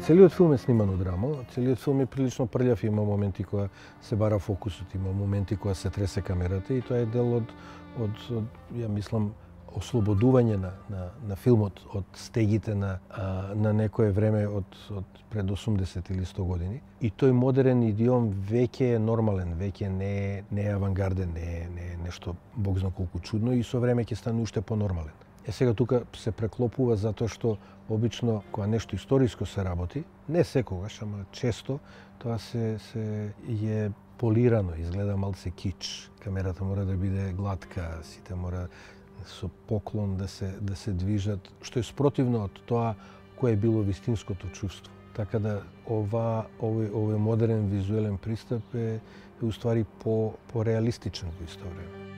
Целиот филм е сниман од рамо, целиот филм е прилично прљав, има моменти кога се бара фокусот, има моменти кога се тресе камерата и тоа е дел од ја мислам, ослободување на филмот од стегите на некое време од пред 80 или 100 години. И тој модерен идиом веќе е нормален, веќе не е авангарден, не е нешто бог зна колку чудно и со време ќе стане уште понормален. Сега тука се преклопува затоа што обично кога нешто историско се работи, не секогаш, ама често, тоа се е полирано, изгледа малце кич. Камерата мора да биде глатка, сите мора со поклон да се движат, што е спротивно од тоа кое е било вистинското чувство. Така да овој модерен визуелен пристап е уствари по реалистичен во исто време.